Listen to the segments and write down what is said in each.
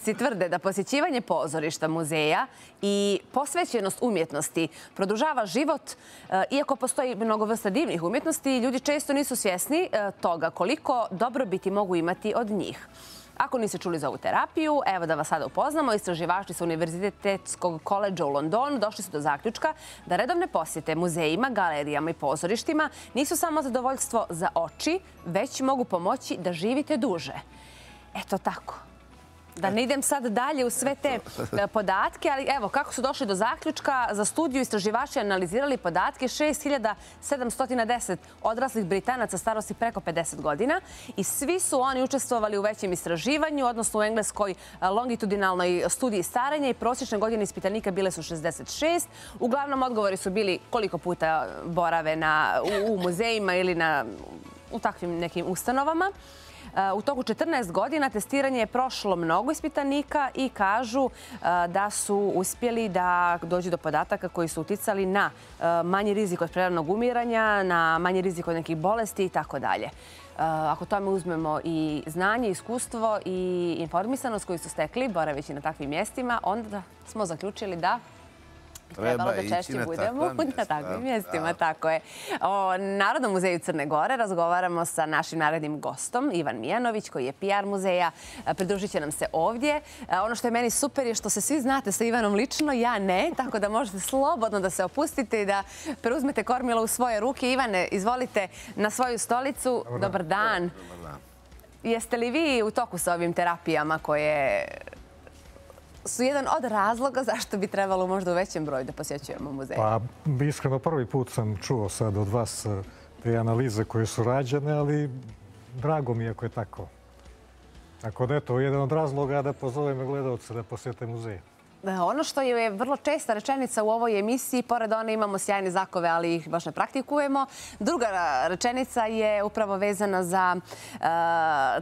Tvrde da posjećivanje pozorišta, muzeja i posvećenost umjetnosti produžava život, iako postoji mnogo vrsta divnih umjetnosti, ljudi često nisu svjesni toga koliko dobrobiti mogu imati od njih. Ako niste čuli za ovu terapiju, evo da vas sada upoznamo. Istraživači sa Univerzitetskog koledža u Londonu došli su do zaključka da redovne posjete muzejima, galerijama i pozorištima nisu samo zadovoljstvo za oči, već mogu pomoći da živite duže. Eto tako. Da ne idem sad dalje u sve te podatke, ali evo kako su došli do zaključka. Za studiju istraživači analizirali podatke 6710 odraslih Britanaca starosti preko 50 godina i svi su oni učestvovali u većem istraživanju, odnosno u engleskoj longitudinalnoj studiji starenja i prosječne godine ispitanika bile su 66. Uglavnom odgovori su bili koliko puta borave u muzejima ili u takvim nekim ustanovama. U toku 14 godina testiranje je prošlo mnogo ispitanika i kažu da su uspjeli da dođu do podataka koji su uticali na manji rizik od preranog umiranja, na manji rizik od nekih bolesti i tako dalje. Ako tome uzmemo i znanje, iskustvo i informisanost koju su stekli boraveći na takvim mjestima, onda smo zaključili da trebalo da češće budemo na takvim mjestima. Tako je. O Narodnom muzeju Crne Gore razgovaramo sa našim narednim gostom, Ivan Mijanović, koji je PR muzeja. Pridružit će nam se ovdje. Ono što je meni super je što se svi znate sa Ivanom lično, ja ne, tako da možete slobodno da se opustite i da preuzmete kormilo u svoje ruke. Ivane, izvolite na svoju stolicu. Dobar dan. Jeste li vi u toku sa ovim terapijama koje su jedan od razloga zašto bi trebalo možda u većem broju da posjećujemo muzeje? Pa, iskreno, prvi put sam čuo sad od vas te analize koje su rađene, ali drago mi je ako je tako. Tako da je to jedan od razloga da pozovem gledalce da posjete muzeje. Ono što je vrlo česta rečenica u ovoj emisiji, pored one imamo sjajne zakove, ali ih baš ne praktikujemo. Druga rečenica je upravo vezana za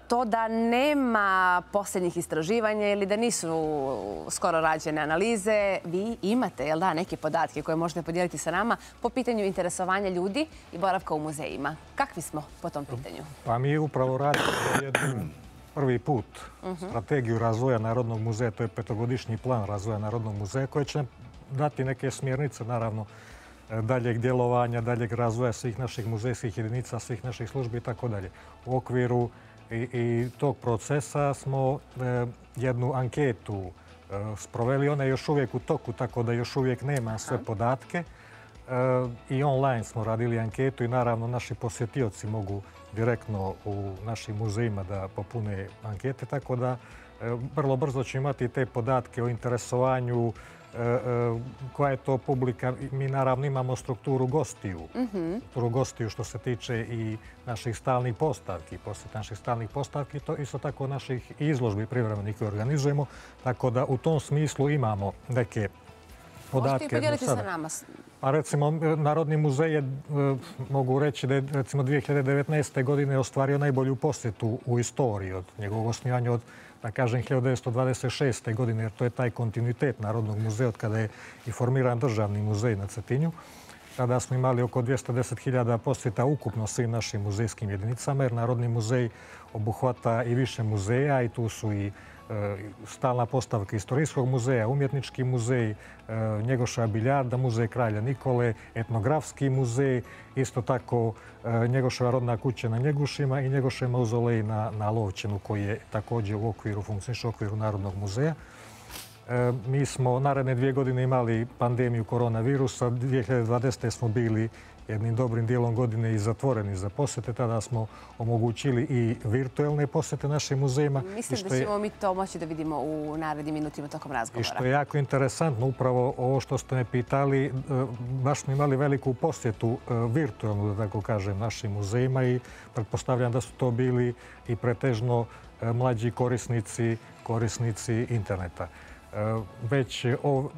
to da nema posljednjih istraživanja ili da nisu skoro rađene analize. Vi imate, jel da, neke podatke koje možete podijeliti sa nama po pitanju interesovanja ljudi i boravka u muzejima. Kakvi smo po tom pitanju? Pa mi upravo radimo prvi put strategiju razvoja Narodnog muzeja, to je 5-godišnji plan razvoja Narodnog muzeja koji će dati neke smjernice, naravno, daljeg djelovanja, daljeg razvoja svih naših muzejskih jedinica, svih naših službi i tako dalje. U okviru i tog procesa smo jednu anketu sproveli. Ona je još uvijek u toku, tako da još uvijek nema sve podatke. I online smo radili anketu i naravno naši posjetioci mogu direktno u našim muzejima da popune ankete, tako da vrlo brzo ćemo imati te podatke o interesovanju, koja je to publika. Mi naravno imamo strukturu gostiju. Strukturu gostiju što se tiče i naših stalnih postavki, posjet naših stalnih postavki, to isto tako naših izložbi privremenih koje organizujemo, tako da u tom smislu imamo neke podatke. Možete i podijeliti sa nama? Pa recimo, Narodni muzej je, mogu reći da je recimo 2019. godine ostvario najbolju posjetu u istoriji od njegovog osnivanja od, da kažem, 1926. godine, jer to je taj kontinuitet Narodnog muzeja od kada je i formiran državni muzej na Cetinju. Tada smo imali oko 210.000 posjeta ukupno svim našim muzejskim jedinicama, jer Narodni muzej obuhvata i više muzeja i tu su i stalna postavka Istorijskog muzeja, Umjetnički muzej, Njegoševa biljarda, Muzej kralja Nikole, Etnografski muzej, isto tako Njegoševa rodna kuća na Njegušima i Njegošev mauzolej na Lovćenu koji je također u okviru, funkcioniše u okviru Narodnog muzeja. Mi smo naredne 2 godine imali pandemiju koronavirusa. 2020. smo bili jednim dobrim dijelom godine i zatvoreni za posjete. Tada smo omogućili i virtualne posjete našim muzejima. Mislim da ćemo mi to moći da vidimo u narednim minutima tokom razgovora. I što je jako interesantno, upravo ovo što ste me pitali, baš smo imali veliku posjetu virtualnu, da tako kažem, našim muzejima i pretpostavljam da su to bili i pretežno mlađi korisnici interneta. Već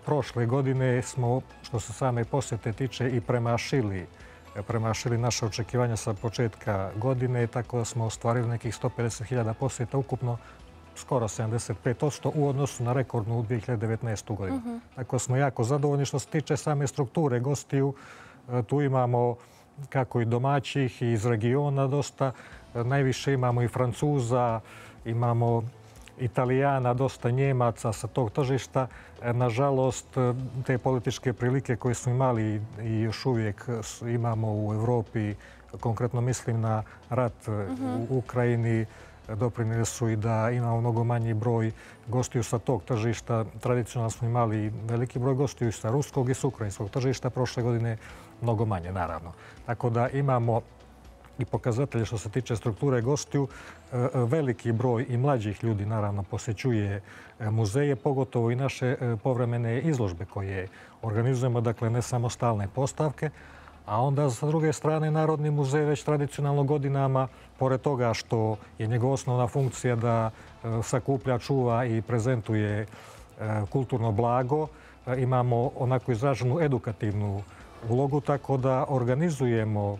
prošle godine smo, što se same posjete tiče, i premašili naše očekivanja sa početka godine, tako da smo ostvarili nekih 150.000 posjeta, ukupno skoro 75% u odnosu na rekordnu 2019. godinu. Tako smo jako zadovoljni. Što se tiče same strukture gostiju, tu imamo kako i domaćih i iz regiona dosta. Najviše imamo i Francuza, imamo Italijana, dosta Njemaca sa tog tržišta. Nažalost, te političke prilike koje smo imali i još uvijek imamo u Evropi, konkretno mislim na rat u Ukrajini, doprinijeli su i da imamo mnogo manji broj gostiju sa tog tržišta. Tradicionalno smo imali veliki broj gostiju sa ruskog i sa ukrajinskog tržišta. Prošle godine mnogo manje, naravno. Tako da imamo i pokazatelje što se tiče strukture gostiju. Veliki broj i mlađih ljudi, naravno, posjećuje muzeje, pogotovo i naše povremene izložbe koje organizujemo, dakle ne samo stalne postavke. A onda, sa druge strane, Narodni muzej već tradicionalno godinama, pored toga što je njegova osnovna funkcija da sakuplja, čuva i prezentuje kulturno blago, imamo onako izraženu edukativnu ulogu, tako da organizujemo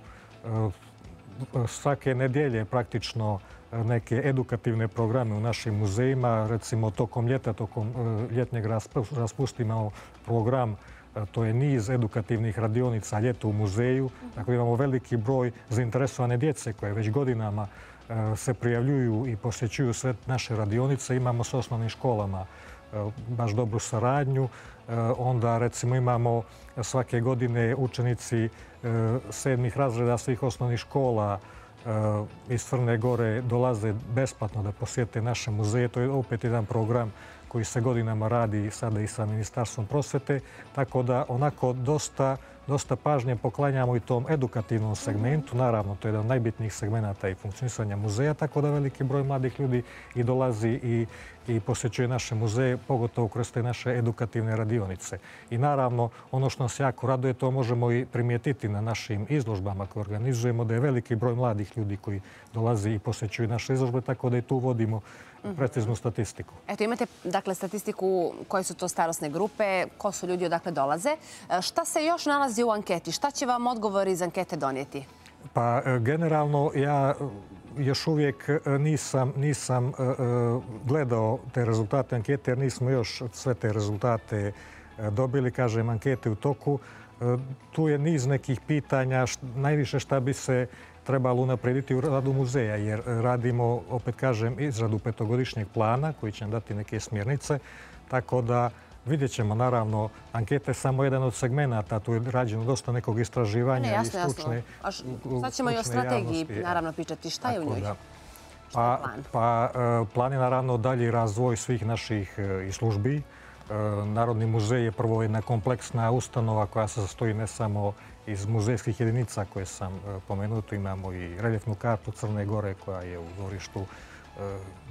svake nedjelje praktično neke edukativne programe u našim muzejima. Recimo, tokom ljeta, tokom ljetnjeg raspustimo program. To je niz edukativnih radionica ljeto u muzeju. Dakle, imamo veliki broj zainteresovane djece koje već godinama se prijavljuju i posjećuju sve naše radionice. Imamo s osnovnim školama baš dobru saradnju. Onda, recimo, imamo svake godine učenici 7. razreda svih osnovnih škola iz Crne Gore dolaze besplatno da posjete naše muzeje. To je opet jedan program koji se godinama radi sada i sa Ministarstvom prosvete. Tako da onako dosta pažnje poklanjamo i tom edukativnom segmentu. Naravno, to je jedan od najbitnijih segmenata i funkcionisanja muzeja, tako da veliki broj mladih ljudi i dolazi i posjećuje naše muzeje, pogotovo kroz te naše edukativne radionice. I naravno, ono što nas jako raduje, to možemo i primijetiti na našim izložbama koje organizujemo, da je veliki broj mladih ljudi koji dolazi i posjećuju naše izložbe, tako da i tu vodimo preciznu statistiku. Eto, imate, dakle, statistiku koje su to starosne grupe, ko su ljudi odakle dolaze. Šta se još nalazi u anketi? Šta će vam odgovor iz ankete donijeti? Pa, generalno, ja još uvijek nisam gledao te rezultate ankete, jer nismo još sve te rezultate dobili. Kažem, ankete u toku. Tu je niz nekih pitanja, najviše šta bi se trebalo unaprijediti u radu muzeja, jer radimo, opet kažem, izradu petogodišnjeg plana koji će nam dati neke smjernice. Tako da vidjet ćemo, naravno, anketa je samo jedan od segmenata, tu je rađeno dosta nekog istraživanja i stručne javnosti. Sad ćemo i o strategiji, naravno, pričati. Šta je u njoj? Plan je, naravno, dalji razvoj svih naših službi. Narodni muzej je prvo jedna kompleksna ustanova koja se sastoji ne samo iz muzejskih jedinica koje sam pomenuo. Tu imamo i reljefnu kartu Crne Gore koja je u dvorištu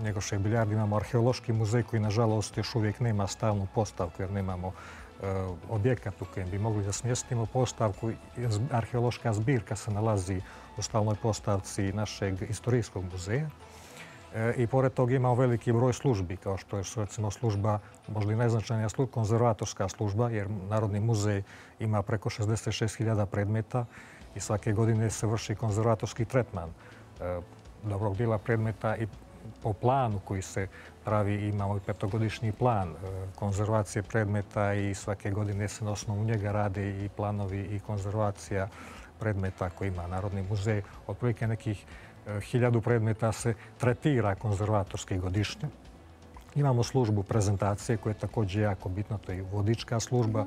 Njegoše Biljardi. Imamo arheološki muzej koji, nažalost, još uvijek nema stalnu postavku jer nemamo objekat u kojem bi mogli da smjestimo postavku. Arheološka zbirka se nalazi u stalnoj postavci našeg istorijskog muzeja. I pored toga imamo veliki broj službi, kao što je, recimo, služba, možda i najznačajnija konzervatorska služba, jer Narodni muzej ima preko 66.000 predmeta i svake godine se vrši konzervatorski tretman dobrog dijela predmeta i po planu koji se pravi imamo i petogodišnji plan konzervacije predmeta i svake godine se na osnovu njega rade i planovi i konzervacija predmeta koji ima Narodni muzej. Otprilike nekih 1000 predmeta se tretira konzervatorski godišnje. Imamo službu prezentacije koja je također jako bitna, to je vodička služba,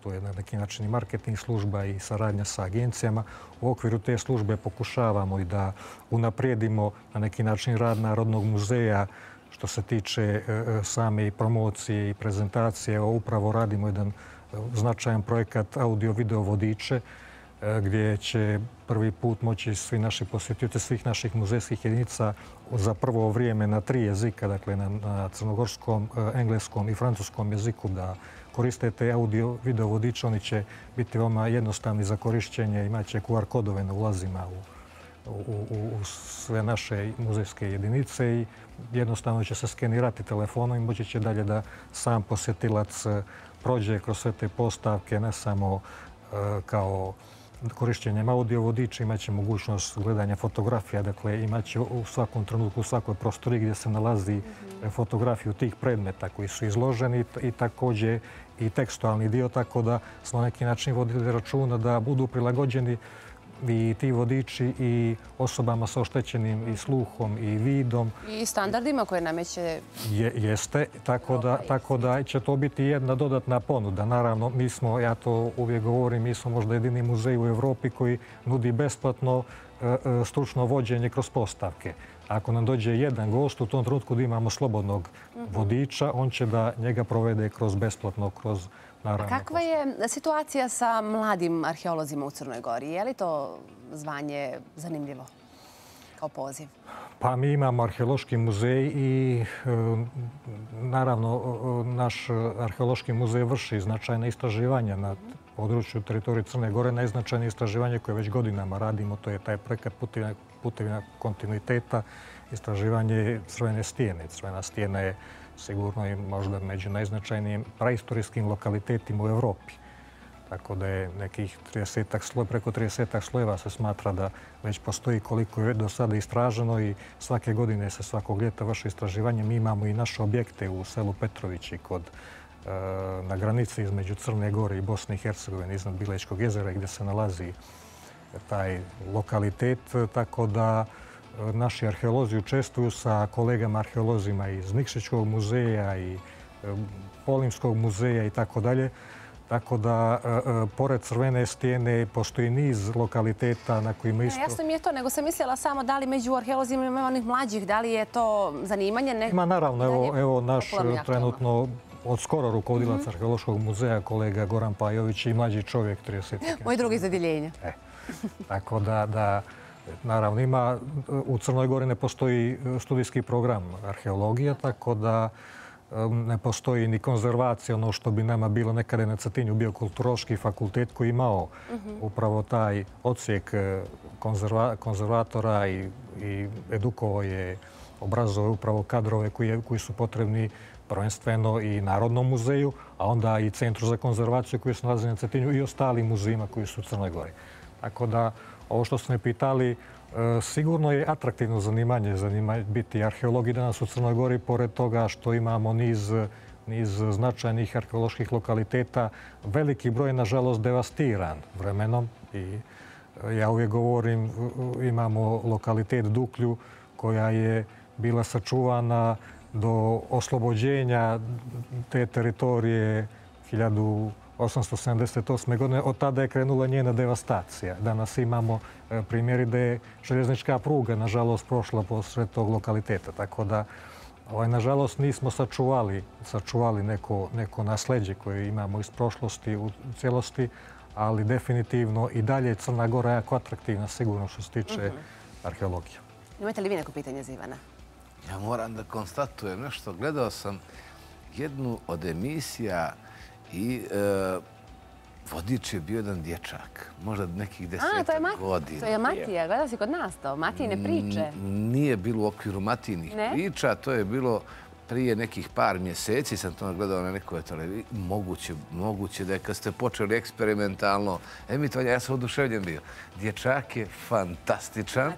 to je na neki način i marketing služba i saradnja sa agencijama. U okviru te službe pokušavamo i da unaprijedimo na neki način rad Narodnog muzeja što se tiče same promocije i prezentacije. Upravo radimo jedan značajan projekat audio-video vodiče gdje će prvi put moći svi naši posjetioci svih naših muzejskih jedinica za prvo vrijeme na 3 jezika, dakle na crnogorskom, engleskom i francuskom jeziku da koriste te audio-video vodiče. Oni će biti veoma jednostavni za korišćenje, imat će QR kodove na ulazima u sve naše muzejske jedinice i jednostavno će se skenirati telefonom i moći će dalje da sam posjetilac prođe kroz sve te postavke, ne samo kao korišćenjem audio vodiča, imaće mogućnost gledanja fotografija, dakle imaće u svakom trenutku, u svakoj prostoriji gdje se nalazi fotografiju tih predmeta koji su izloženi i također i tekstualni dio, tako da smo na neki način vodili računa da budu prilagođeni i ti vodiči i osobama sa oštećenim i sluhom i vidom. I standardima koje nameće... Jeste, tako da će to biti jedna dodatna ponuda. Naravno, mi smo, ja to uvijek govorim, mi smo možda jedini muzej u Evropi koji nudi besplatno stručno vođenje kroz postavke. Ako nam dođe jedan gost, u tom trenutku da imamo slobodnog vodiča, on će da njega provede kroz besplatno, kroz naravno... A kakva je situacija sa mladim arheolozima u Crnoj Gori? Je li to zvanje zanimljivo kao poziv? Pa mi imamo arheološki muzej i naravno naš arheološki muzej vrši značajna istraživanja na području teritorije Crne Gore. Najznačajnije istraživanje koje već godinama radimo, to je taj projekat Putevina kontinuiteta, istraživanje Crvene stijene. Crvena stijena je sigurno i možda među najznačajnijim praistorijskim lokalitetima u Evropi. Tako da je nekih preko 30 slojeva se smatra da već postoji koliko je do sada istraženo i svake godine se svakog ljeta vrši istraživanje. Mi imamo i naše objekte u selu Petrovići na granici između Crne Gore i Bosne i Hercegovine iznad Bilečkog jezera gdje se nalazi taj lokalitet. Tako da naši arheolozi učestvuju sa kolegama arheolozima iz Nikšićkog muzeja i Polimskog muzeja i tako dalje. Tako da, pored Crvene stijene, postoji niz lokaliteta na kojima isto... Jasno mi je to, nego sam mislila samo da li među arheolozima ima onih mlađih, da li je to zanimanje? Ima, naravno. Evo naš trenutno od skoro rukovodilac Arheološkog muzeja, kolega Goran Pajović i mlađi čovjek, 30. Moj drugi iz odjeljenja. Tako da, naravno, ima... U Crnoj Gori ne postoji studijski program arheologija, tako da ne postoji ni konzervacija, ono što bi nama bilo nekada na Cetinju bio kulturološki fakultet koji imao upravo taj odsjek konzervatora i edukovao je, obrazovao upravo kadrove koji su potrebni prvenstveno i Narodnom muzeju, a onda i Centru za konzervaciju koji se nalazi na Cetinju i ostalim muzejima koji su u Crnoj Gori. Tako da, ovo što ste me pitali, sigurno je atraktivno zanimanje biti arheolog i danas u Crnoj Gori, pored toga što imamo niz značajnih arheoloških lokaliteta. Veliki broj je, nažalost, devastiran vremenom. I ja uvijek govorim, imamo lokalitet Duklju koja je bila sačuvana do oslobođenja te teritorije 1878. godine. Od tada je krenula njena devastacija. Danas imamo primjeri da je željeznička pruga, nažalost, prošla posred tog lokaliteta. Tako da, nažalost, nismo sačuvali neko nasleđe koje imamo iz prošlosti u cijelosti, ali definitivno i dalje je Crna Gora jako atraktivna, sigurno što se tiče arheologije. Imate li vi neko pitanje za Ivana? Ja moram da konstatujem nešto. Gledao sam jednu od emisija i vodič je bio jedan dječak, možda nekih 10 godina. To je Matija, gleda si kod nas to, Matijine priče. Nije bilo u okviru Matijnih priča, to je bilo prije nekih par mjeseci, sam to gledao na nekoj televiziji. Moguće da je kad ste počeli eksperimentalno emitovanje, ja sam oduševljen bio. Dječak je fantastičan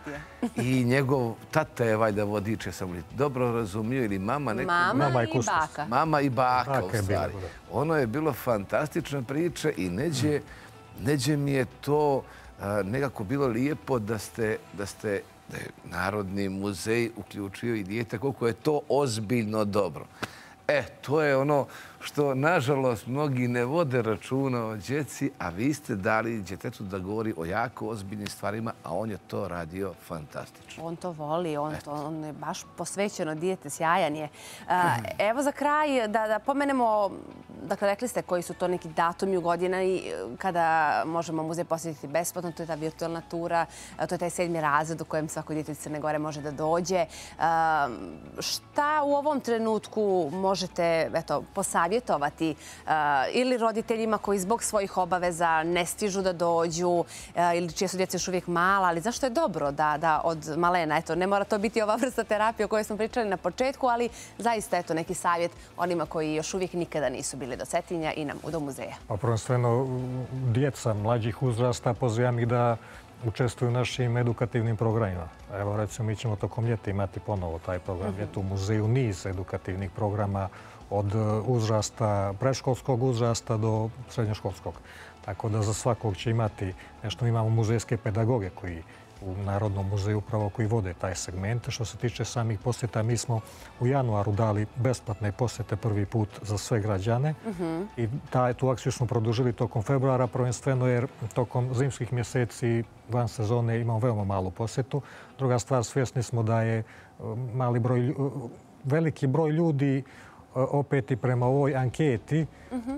i njegov tata je valjda vodič, ja sam li dobro razumio, ili mama nekog... Mama i baka. Mama i baka, u stvari. Ono je bilo fantastična priča i neđe mi je to nekako bilo lijepo da je Narodni muzej uključio i dijete, koliko je to ozbiljno dobro. To je ono što, nažalost, mnogi ne vode računa o djeci, a vi ste dali djetetu da govori o jako ozbiljnim stvarima, a on je to radio fantastično. On to voli, on je baš posvećeno dijete, sjajan je. Evo za kraj da pomenemo, dakle, rekli ste koji su to neki datumi u godina i kada možemo muzej posjetiti besplatno, to je ta virtualna tura, to je taj 7. razred u kojem svako dijete iz Crne Gore može da dođe. Šta u ovom trenutku možete posavjetovati ili roditeljima koji zbog svojih obaveza ne stižu da dođu ili čije su djeca još uvijek mala, ali zašto je dobro da od malena, ne mora to biti ova vrsta terapije o kojoj smo pričali na početku, ali zaista neki savjet onima koji još uvijek nikada nisu bili do Cetinja i do muzeja. Pa prvenstveno djeca mlađih uzrasta pozivam ih da učestvuju u našim edukativnim programima. Evo, recimo, mi ćemo tokom ljeta imati ponovo taj program. Ljeta u muzeju niz edukativnih programa od uzrasta, predškolskog uzrasta do srednjoškolskog. Tako da za svakog će imati nešto. Mi imamo muzejske pedagoge koji u Narodnom muzeju upravo koji vode taj segment. Što se tiče samih posjeta, mi smo u januaru dali besplatne posjete prvi put za sve građane i tu akciju smo produžili tokom februara, prvenstveno jer tokom zimskih mjeseci van sezone imamo veoma malu posjetu. Druga stvar, svjesni smo da je veliki broj ljudi, opet i prema ovoj anketi,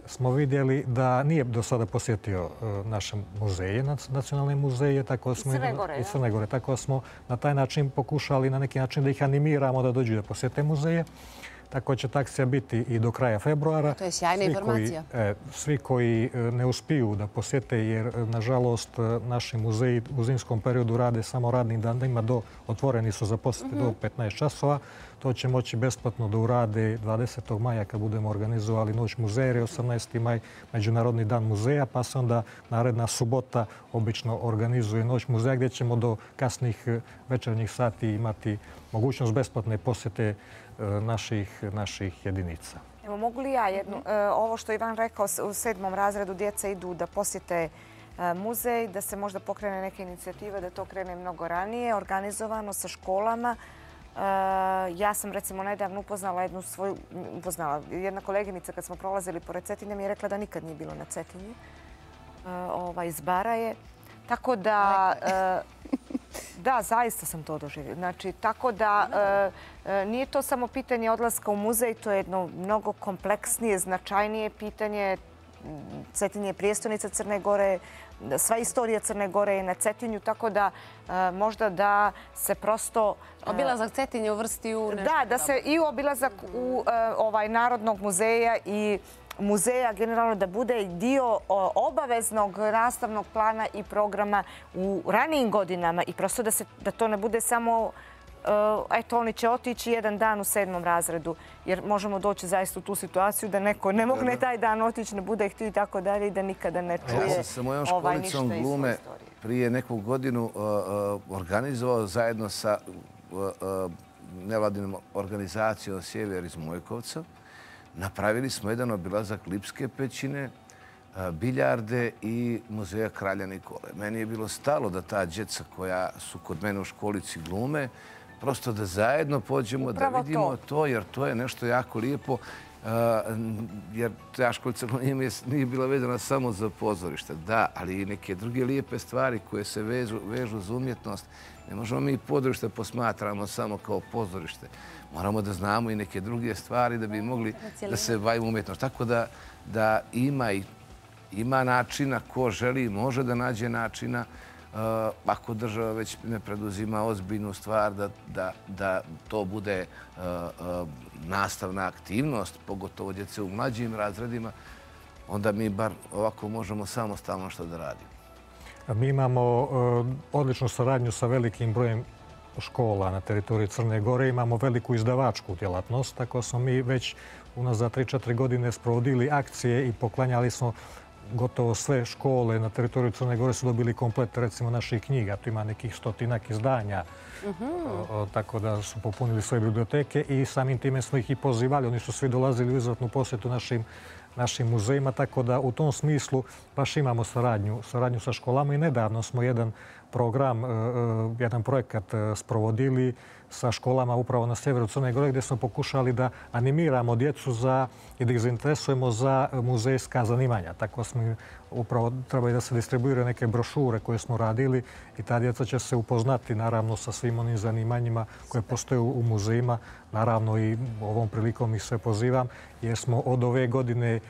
smo vidjeli da nije do sada posjetio naše muzeje, nacionalne muzeje, i Crne Gore. Tako smo na taj način pokušali na neki način da ih animiramo da dođu da posjete muzeje. Tako će ta akcija biti i do kraja februara. To je sjajna informacija. Svi koji ne uspiju da posjete, jer nažalost naši muzeji u zimskom periodu rade samo radnim danima, otvoreni su za posjete do 15 časova. To će moći besplatno da urade 20. maja kad budemo organizovali Noć muzeja, jer je 18. maj Međunarodni dan muzeja, pa se onda naredna subota obično organizuje Noć muzeja gdje ćemo do kasnih večernjih sati imati mogućnost besplatne posjete naših jedinica. Evo, mogu li ja jednu, ovo što je Ivan rekao, u 7. razredu djeca idu da posjete muzej, da se možda pokrene neke inicijative, da to krene mnogo ranije, organizovano sa školama. Ja sam recimo nedavno upoznala jedna koleginica kad smo prolazili pored Cetinja mi je rekla da nikad nije bilo na Cetinju. Iz Baraje. Tako da... Da, zaista sam to doživjela. Znači, tako da nije to samo pitanje odlaska u muzej, to je jedno mnogo kompleksnije, značajnije pitanje. Cetinje je prijestolnica Crne Gore, sva istorija Crne Gore je na Cetinju, tako da možda da se prosto... Obilazak Cetinje uvrsti u nešto. Da se i obilazak u Narodnog muzeja i muzeja generalno da bude dio obaveznog nastavnog plana i programa u ranijim godinama i prosto da to ne bude samo eto, oni će otići jedan dan u 7. razredu, jer možemo doći zaista u tu situaciju da neko ne mogne taj dan otići, ne bude htio i tako dalje i da nikada ne čuje ništa iz svoje istorije. Ja sam sa mojom školicom glume prije neku godinu organizovao zajedno sa nevladinom organizacijom Sjever iz Mojkovca. Napravili smo jedan obilazak Lipske pećine, Biljarde i muzeja Kralja Nikole. Meni je bilo stalo da ta djeca koja su kod mene u školici glume, prosto da zajedno pođemo, da vidimo to, jer to je nešto jako lijepo. Jer ta školica nije bila vezana samo za pozorište. Da, ali i neke druge lijepe stvari koje se vežu za umjetnost. Ne možemo mi pozorište posmatramo samo kao pozorište. Moramo da znamo i neke druge stvari da bi mogli da se bavimo umjetnost. Tako da ima načina, ko želi može da nađe načina. Ako država već ne preduzima ozbiljnu stvar da to bude nastavna aktivnost, pogotovo djece u mlađim razredima, onda mi bar ovako možemo samostalno što da radimo. Mi imamo odličnu saradnju sa velikim brojem škola na teritoriji Crne Gore. Imamo veliku izdavačku djelatnost, tako smo mi već unazad 3-4 godine sprovodili akcije i poklanjali smo gotovo sve škole na teritoriju Crne Gore su dobili komplet recimo naših knjiga. Tu ima nekih 100-ak izdanja, tako da su popunili svoje biblioteke i samim time smo ih i pozivali. Oni su svi dolazili u izvratnu posjetu našim muzejima, tako da u tom smislu baš imamo saradnju sa školama i nedavno smo jedan program, jedan projekat sprovodili sa školama upravo na sjeveru Crne Gore gdje smo pokušali da animiramo djecu i da ih zainteresujemo za muzejska zanimanja. Tako smo upravo trebali da se distribuiraju neke brošure koje smo radili i ta djeca će se upoznati naravno sa svim onim zanimanjima koje postoje u muzejima. Naravno i ovom prilikom ih sve pozivam jer smo od ove godine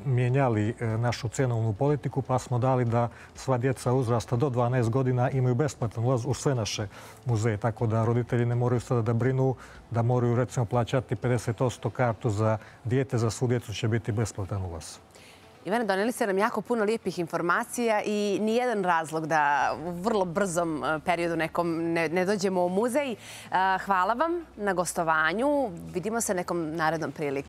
mijenjali našu cjenovnu politiku pa smo dali da sva djeca uzrasta do 12 godina imaju besplatan ulaz u sve naše muzeje. Tako da roditelji ne moraju sada da brinu da moraju recimo plaćati 50% kartu za dijete, za svu djecu će biti besplatan ulaz. Ivane, doneli ste nam jako puno lijepih informacija i nijedan razlog da u vrlo brzom periodu nekom ne dođemo u muzej. Hvala vam na gostovanju. Vidimo se nekom narednom prilikom.